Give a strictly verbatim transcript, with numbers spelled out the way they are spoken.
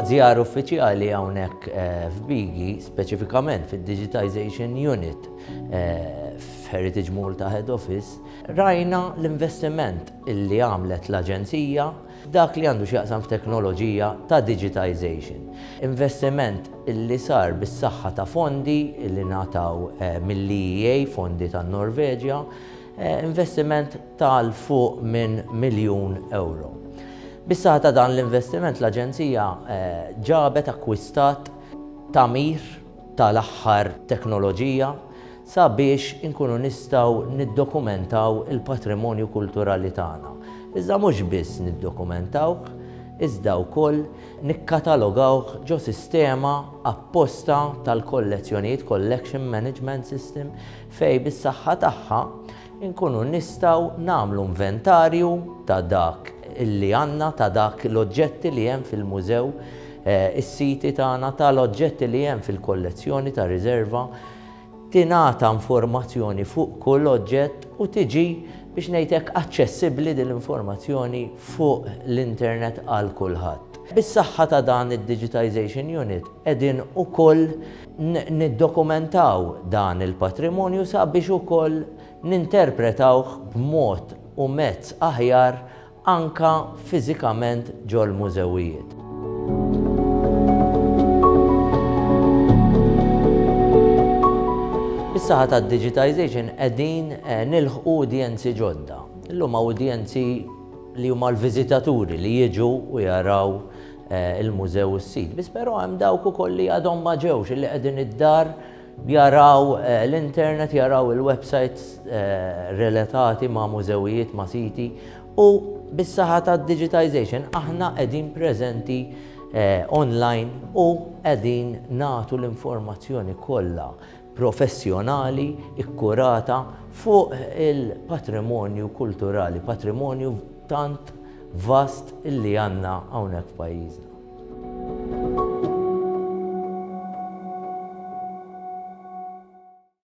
Waqt żjara uffiċjali hawnhekk f'Bigi, speċifikament fid-Digitization Unit f'Heritage Malta Head Office, rajna l-investiment illi għamlet l-Aġenzija dak li għandu x'jaqsam f'teknoloġija ta' digitization. Investiment illi sar bis-saħħa ta' fondi illi ngħataw mill-E E A, fondi tan-Norveġja, investiment tal fuq minn miljun euro. Bis-saħħa ta' dan l-investiment l-Aġenzija ġabet, akkwistat tagħmir tal-aħħar teknoloġija sabiex inkunu nistgħu niddokumentaw il-patrimonju kulturali tagħna. Iżda mhux biss niddokumentawh, iżda wkoll nikkatalogawh ġo sistema apposta tal-kollezzjonijiet, Collection Management System, fej bis-saħħa tagħha inkunu nistgħu nagħmlu inventarju ta' dak illi għandna, ta' dak l-oġġetti li hemm fil-mużew, is-siti tagħna, tal-oġġetti li hemm fil-kollezzjoni ta' riserva, tingħata informazzjoni fuq kull oġġett u tiġi, biex ngħidlek, aċċessibbli din l-informazzjoni fuq l-internet għal kulħadd. Bis-saħħa ta' dan id-Digitization Unit qegħdin ukoll niddokumentaw dan il-patrimonju sabiex ukoll ninterpretawh b'mod u mezz aħjar anka fiżikament ġol-mużewijiet. Bis-saħħa tad-digitization qegħdin nilħqu udjenzi ġodda. Illum udjenzi li huma l-viżitaturi li jiġu u jaraw il-mużew u s-sit. Biss però hemm dawk ukoll li għadhom ma ġewx, li qegħdin id-dar jaraw l-internet, jaraw il-websites relatati ma' mużewijiet, ma' siti, u bis-saħħa tad-digitization aħna qegħdin preżenti online u qegħdin nagħtu l-informazzjoni kollha professjonali, ikkurata fuq il-patrimonju kulturali, patrimonju tant vast illi għandna hawnhekk f'pajjiżna.